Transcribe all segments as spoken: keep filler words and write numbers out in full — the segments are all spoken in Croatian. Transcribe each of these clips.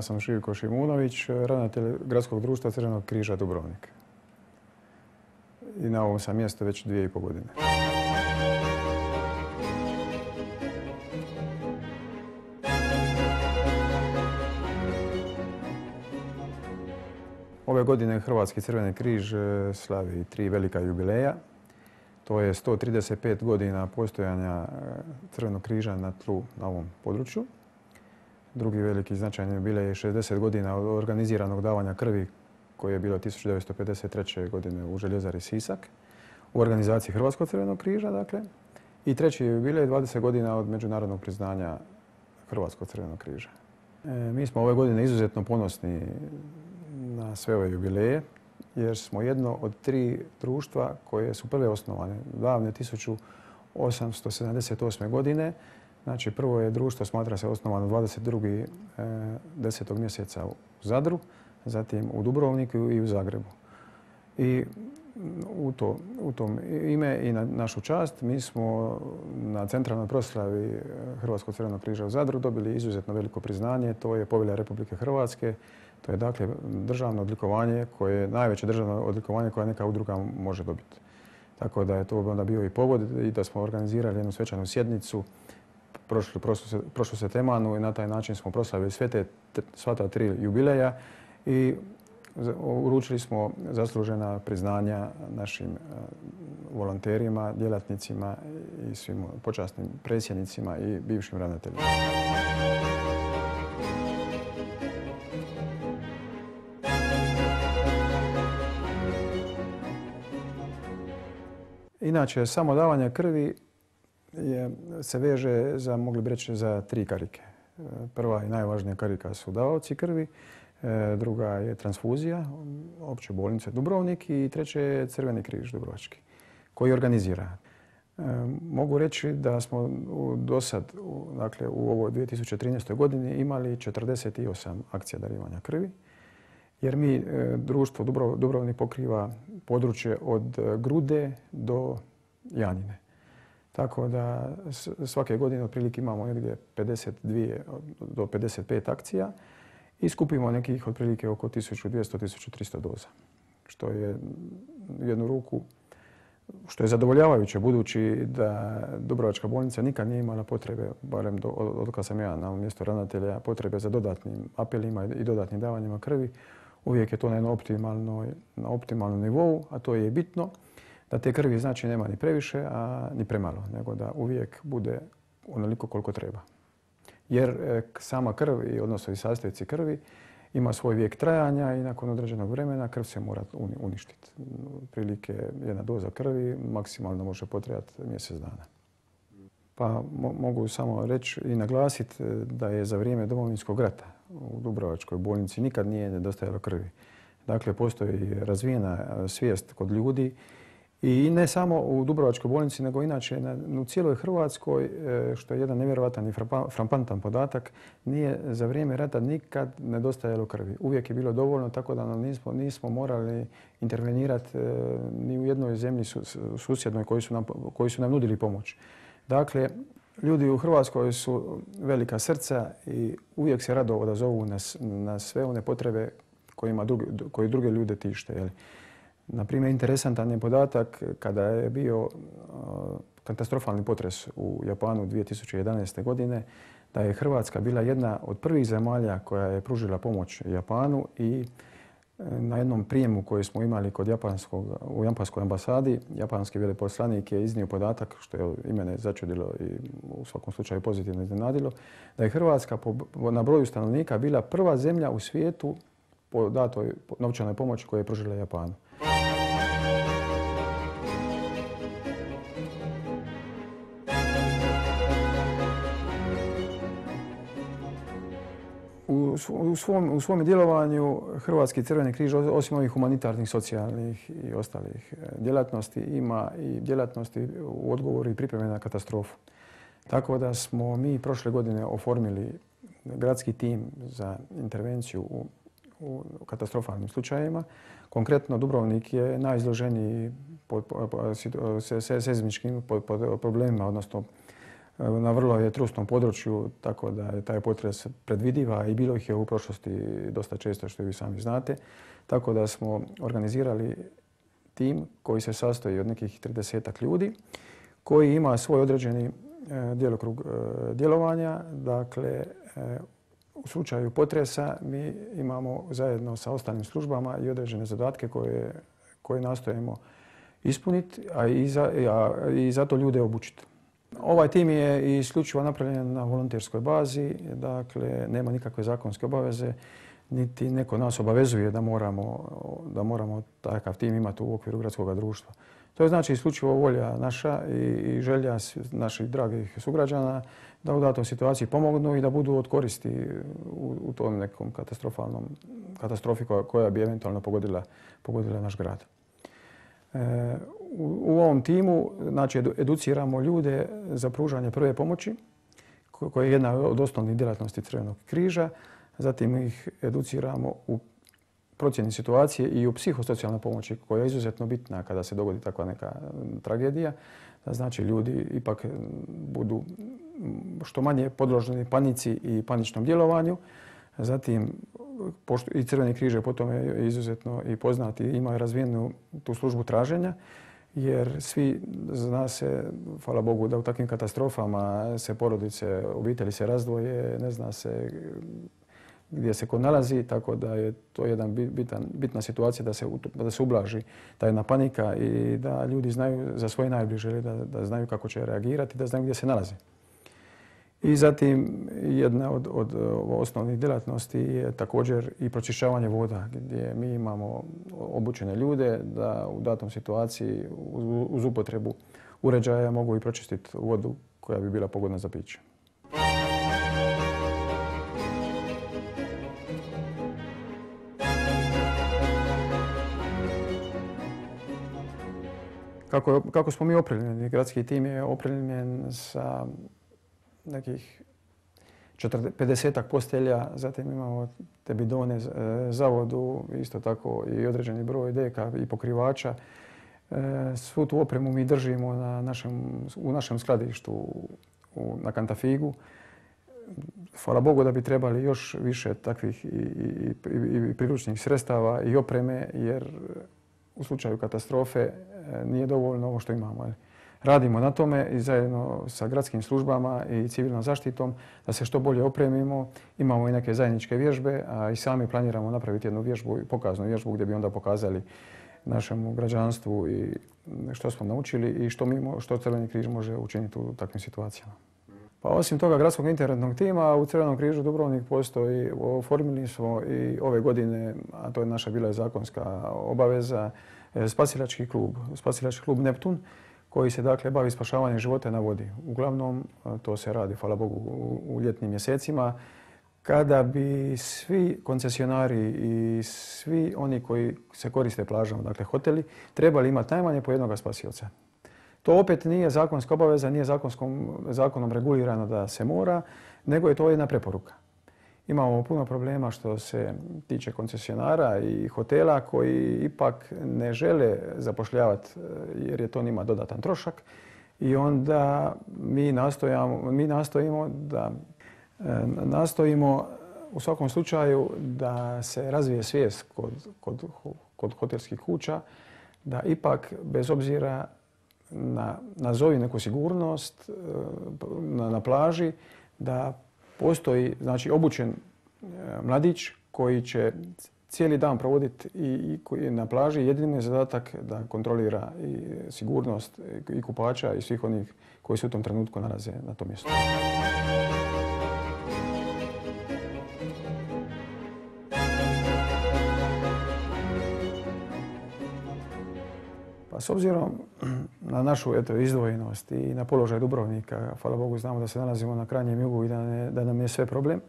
sam Živko Šimunović, ravnatelj Gradskog društva Crvenog križa Dubrovnik. I na ovom sam mjestu već dvije i pol godine. Ove godine Hrvatski Crveni križ slavi tri velika jubileja. To je sto trideset pet godina postojanja Crvenog križa na tlu na ovom području. Drugi veliki značajni jubilej je šezdeset godina od organiziranog davanja krvi koje je bilo tisuću devetsto pedeset treće. godine u Željezari Sisak u organizaciji Hrvatskog Crvenog križa. Dakle. I treći jubilej dvadeset godina od međunarodnog priznanja Hrvatskog Crvenog križa. E, mi smo ove godine izuzetno ponosni na sve ove jubileje jer smo jedno od tri društva koje su prve osnovane davne tisuću osamsto sedamdeset osme. godine. Znači, prvo je društvo, smatra se, osnovano dvadeset drugog desetog mjeseca u Zadru, zatim u Dubrovniku i u Zagrebu. I u, to, u tom ime i na našu čast mi smo na centralnoj proslavi Hrvatskog Crvenog križa u Zadru dobili izuzetno veliko priznanje. To je Povelja Republike Hrvatske. To je dakle državno odlikovanje koje je najveće državno odlikovanje koje neka udruga može dobiti. Tako da je to onda bio i povod i da smo organizirali jednu svečanu sjednicu prošlu, prošlu, prošlu setemanu i na taj način smo proslavili sve te, sva ta tri jubileja i uručili smo zaslužena priznanja našim volonterima, djelatnicima i svim počasnim predsjednicima i bivšim ravnateljima. Inače, samo davanje krvi je, se veže za, mogli bi reći, za tri karike. Prva i najvažnija karika su davaoci krvi, druga je transfuzija, opće bolnice Dubrovnik i treće je Crveni križ Dubrovački koji organizira. Mogu reći da smo do sad, dakle u ovoj dvije tisuće trinaestoj. godini imali četrdeset osam akcija darivanja krvi. Jer mi, društvo Dubrovnik, pokriva područje od Grude do Janjine. Tako da svake godine otprilike imamo negdje pedeset dvije do pedeset pet akcija i skupimo nekih otprilike oko tisuću dvjesto do tisuću tristo doza. Što je u jednu ruku, što je zadovoljavajuće budući da Dubrovačka bolnica nikad nije imala potrebe, barem do, od kada sam ja na mjestu ravnatelja, potrebe za dodatnim apelima i dodatnim davanjima krvi. Uvijek je to na, na optimalnom nivou, a to je bitno da te krvi znači nema ni previše, a ni premalo, nego da uvijek bude onoliko koliko treba. Jer sama krv, odnosno i sastojci krvi, ima svoj vijek trajanja i nakon određenog vremena krv se mora uništiti. Prilike jedna doza krvi maksimalno može potrajati mjesec dana. Pa mo mogu samo reći i naglasiti da je za vrijeme Domovinskog rata u Dubrovačkoj bolnici nikad nije nedostajalo krvi. Dakle, postoji razvijena svijest kod ljudi i ne samo u Dubrovačkoj bolnici, nego inače na, u cijeloj Hrvatskoj, što je jedan nevjerojatan i frapantan podatak, nije za vrijeme rata nikad nedostajalo krvi. Uvijek je bilo dovoljno, tako da nam nismo, nismo morali intervenirati ni u jednoj zemlji susjednoj koji su nam, koji su nam nudili pomoć. Dakle, ljudi u Hrvatskoj su velika srca i uvijek se rado odazovu na, na sve one potrebe kojima drugi, koji druge ljude tište. Jel? Na primjer, interesantan je podatak kada je bio uh, katastrofalni potres u Japanu dvije tisuće jedanaeste. godine, da je Hrvatska bila jedna od prvih zemalja koja je pružila pomoć Japanu i na jednom prijemu koji smo imali kod japanskog, u japanskoj ambasadi, japanski veleposlanik je iznio podatak, što je i mene začudilo i u svakom slučaju pozitivno iznenadilo, da je Hrvatska po, na broju stanovnika bila prva zemlja u svijetu po datoj novčanoj pomoći koju je pružila Japanu. U svom, u svom djelovanju Hrvatski Crveni križ, osim ovih humanitarnih, socijalnih i ostalih djelatnosti, ima i djelatnosti u odgovoru i pripreme na katastrofu. Tako da smo mi prošle godine oformili gradski tim za intervenciju u, u katastrofalnim slučajevima. Konkretno, Dubrovnik je najizloženiji pod, pod, pod, seizmičkim pod, pod problemima, odnosno na vrlo je trusnom području, tako da je taj potres predvidiva i bilo ih je u prošlosti dosta često, što vi sami znate. Tako da smo organizirali tim koji se sastoji od nekih tridesetak ljudi, koji ima svoj određeni djelokrug djelovanja. Dakle, u slučaju potresa mi imamo zajedno sa ostalim službama i određene zadatke koje, koje nastojimo ispuniti, a i, za, a i zato ljude obučiti. Ovaj tim je isključivo napravljen na volonterskoj bazi, dakle nema nikakve zakonske obaveze, niti neko nas obavezuje da moramo, da moramo takav tim imati u okviru gradskog društva. To je znači isključivo volja naša i želja naših dragih sugrađana da u datoj situaciji pomognu i da budu od koristi u, u tom nekom katastrofalnom katastrofi koja, koja bi eventualno pogodila, pogodila naš grad. E, u, u ovom timu znači, educiramo ljude za pružanje prve pomoći, koja je jedna od osnovnih djelatnosti Crvenog križa. Zatim ih educiramo u procjeni situacije i u psihosocijalnoj pomoći koja je izuzetno bitna kada se dogodi takva neka tragedija. Da znači ljudi ipak budu što manje podloženi panici i paničnom djelovanju. Zatim i Crveni križ je po tome izuzetno i poznati, ima razvijenu tu službu traženja, jer svi zna se, hvala Bogu, da u takvim katastrofama se porodice, obitelji se razdvoje, ne zna se gdje se ko nalazi, tako da je to jedna bitan, bitna situacija da se, da se ublaži ta jedna panika i da ljudi znaju za svoje najbliže, da, da znaju kako će reagirati, da znaju gdje se nalaze. I zatim jedna od, od osnovnih djelatnosti je također i pročišćavanje voda, gdje mi imamo obučene ljude da u datom situaciji uz, uz upotrebu uređaja mogu i pročistiti vodu koja bi bila pogodna za piće. Kako, kako smo mi opremljeni? Gradski tim je opremljen sa nekih pedesetak postelja, zatim imamo te bidone za vodu, isto tako i određeni broj deka i pokrivača. Svu tu opremu mi držimo na našem, u našem skladištu u, na Kantafigu. Hvala Bogu da bi trebali još više takvih i, i, i, i priručnih sredstava i opreme, jer u slučaju katastrofe nije dovoljno ovo što imamo. Radimo na tome i zajedno sa gradskim službama i civilnom zaštitom da se što bolje opremimo. Imamo i neke zajedničke vježbe, a i sami planiramo napraviti jednu vježbu, pokaznu vježbu gdje bi onda pokazali našemu građanstvu i što smo naučili i što, mi, što Crveni križ može učiniti u takvim situacijama. Pa osim toga gradskog interventnog tima u Crvenom križu Dubrovnik postoji, oformili smo i ove godine, a to je naša bila zakonska obaveza, spasilački klub, spasilački klub Neptun, koji se dakle bavi spašavanjem života na vodi. Uglavnom to se radi, hvala Bogu, u ljetnim mjesecima, kada bi svi koncesionari i svi oni koji se koriste plažama, dakle hoteli, trebali imati najmanje po jednog spasioca. To opet nije zakonska obaveza, nije zakonskom, zakonom regulirano da se mora, nego je to jedna preporuka. Imamo puno problema što se tiče koncesionara i hotela koji ipak ne žele zapošljavati jer je to njima dodatan trošak i onda mi, nastojamo, mi nastojimo da nastojimo u svakom slučaju da se razvije svijest kod, kod, kod hotelskih kuća da ipak bez obzira na nazovi neku sigurnost na, na plaži da postoji znači obučen mladić koji će cijeli dan provoditi i, i na plaži. Jedini je zadatak da kontrolira i sigurnost i kupača i svih onih koji se u tom trenutku nalaze na tom mjestu. Pa s obzirom na našu eto, izdvojenost i na položaj Dubrovnika, hvala Bogu znamo da se nalazimo na krajnjem jugu i da, ne, da nam je sve problem.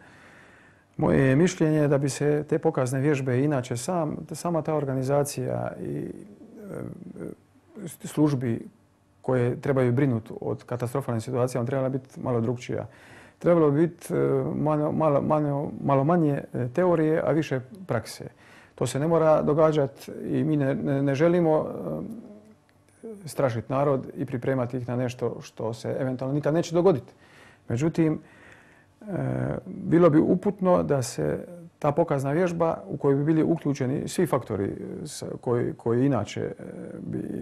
Moje je mišljenje da bi se te pokazne vježbe, inače sam, sama ta organizacija i e, službi koje trebaju brinuti od katastrofalnih situacija, trebala biti malo drukčija. Trebalo bi biti malo, malo, malo, malo manje teorije, a više prakse. To se ne mora događati i mi ne, ne, ne želimo strašiti narod i pripremati ih na nešto što se eventualno nikad neće dogoditi. Međutim, bilo bi uputno da se ta pokazna vježba u kojoj bi bili uključeni svi faktori koji, koji, inače,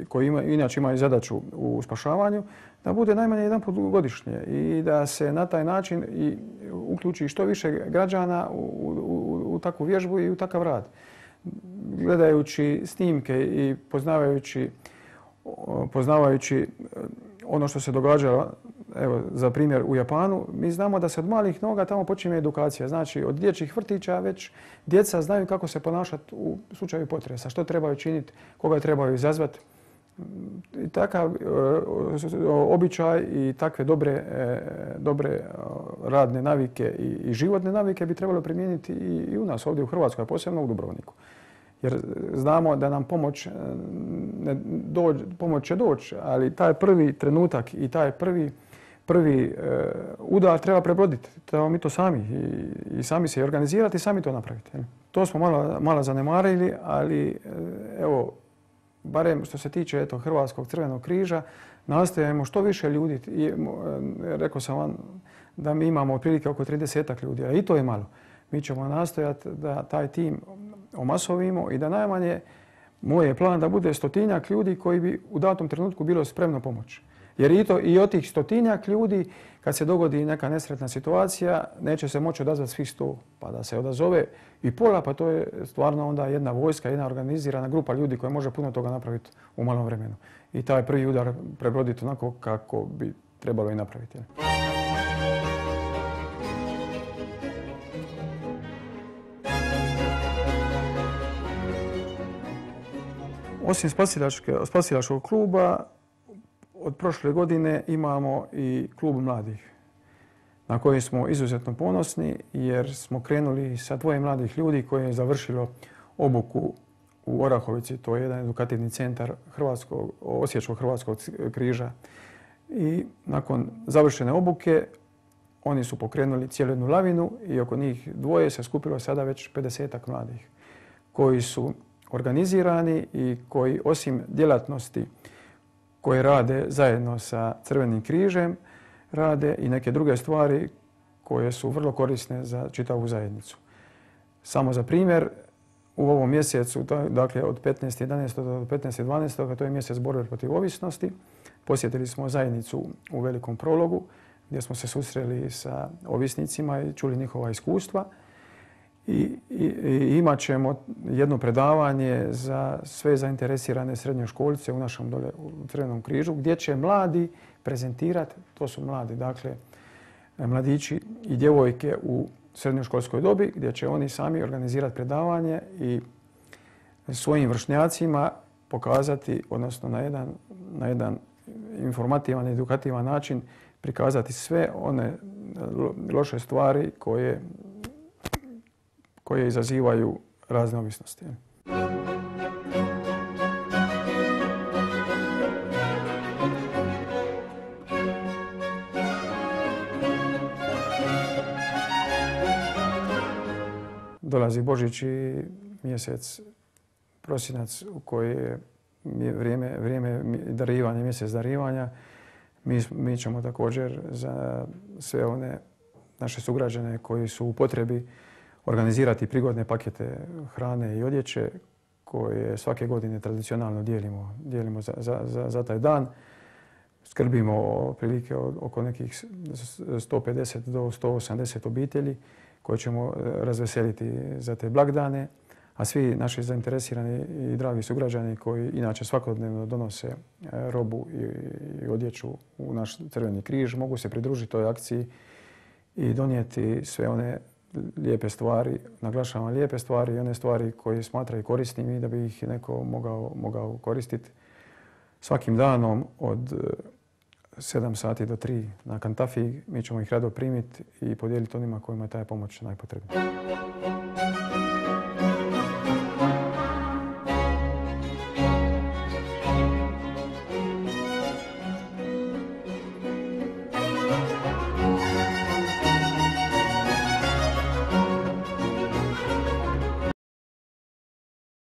koji ima, inače imaju zadaću u spašavanju, da bude najmanje jedan put godišnje i da se na taj način i uključi što više građana u, u, u takvu vježbu i u takav rad. Gledajući snimke i poznavajući, poznavajući ono što se događa, evo, za primjer u Japanu, mi znamo da se od malih noga tamo počinje edukacija. Znači, od dječjih vrtića već djeca znaju kako se ponašati u slučaju potresa, što trebaju činiti, koga trebaju izazvati. I takav običaj i takve dobre, dobre radne navike i životne navike bi trebalo primijeniti i u nas ovdje u Hrvatskoj, a posebno u Dubrovniku. Jer znamo da nam pomoć, ne dođ, pomoć će doći, ali taj prvi trenutak i taj prvi, prvi udar treba prebroditi. Treba mi to sami i, i sami se organizirati i sami to napraviti. To smo malo, malo zanemarili, ali evo, barem što se tiče eto, Hrvatskog crvenog križa, nastojimo što više ljudi. I, rekao sam vam da mi imamo otprilike oko tridesetak ljudi, a i to je malo. Mi ćemo nastojati da taj tim omasovimo i da najmanje, moj je plan da bude stotinjak ljudi koji bi u datom trenutku bilo spremno pomoći. Jer i, to, i od tih stotinjak ljudi, kad se dogodi neka nesretna situacija, neće se moći odazvati svih sto. Pa da se odazove i pola, pa to je stvarno onda jedna vojska, jedna organizirana grupa ljudi koja može puno toga napraviti u malom vremenu. I taj prvi udar prebroditi onako kako bi trebalo i napraviti. Osim spasilačkog kluba, od prošle godine imamo i klub mladih na koji smo izuzetno ponosni jer smo krenuli sa dvoje mladih ljudi koji je završilo obuku u Orahovici. To je jedan edukativni centar Hrvatskog, Osječkog Hrvatskog križa. I nakon završene obuke oni su pokrenuli cijelu jednu lavinu i oko njih dvoje se skupilo sada već pedesetak mladih koji su organizirani i koji osim djelatnosti koje rade zajedno sa Crvenim križem, rade i neke druge stvari koje su vrlo korisne za čitavu zajednicu. Samo za primjer, u ovom mjesecu, dakle od petnaestog jedanaestog do petnaestog dvanaestog, to je mjesec borbe protiv ovisnosti, posjetili smo zajednicu u Velikom Prologu gdje smo se susreli sa ovisnicima i čuli njihova iskustva. I, i, i imat ćemo jedno predavanje za sve zainteresirane srednjoškolce u našem dole u Crvenom križu gdje će mladi prezentirati, to su mladi, dakle mladići i djevojke u srednjoškolskoj dobi gdje će oni sami organizirati predavanje i svojim vršnjacima pokazati, odnosno na jedan, na jedan informativan i edukativan način prikazati sve one loše stvari koje koje izazivaju razne ovisnosti. Dolazi Božić i mjesec prosinac u koji je vrijeme, vrijeme darivanja, mjesec darivanja. Mi, mi ćemo također za sve one naše sugrađane koji su u potrebi organizirati prigodne pakete hrane i odjeće koje svake godine tradicionalno dijelimo, dijelimo za, za, za, za taj dan. Skrbimo otprilike oko nekih sto pedeset do sto osamdeset obitelji koje ćemo razveseliti za te blagdane, a svi naši zainteresirani i dragi sugrađani koji inače svakodnevno donose robu i, i odjeću u naš Crveni križ mogu se pridružiti toj akciji i donijeti sve one lijepe stvari, naglašavam lijepe stvari i one stvari koje smatraju korisnim i da bi ih neko mogao, mogao koristiti svakim danom od sedam sati do tri na Kantafiji. Mi ćemo ih rado primiti i podijeliti onima kojima je ta pomoć najpotrebnija.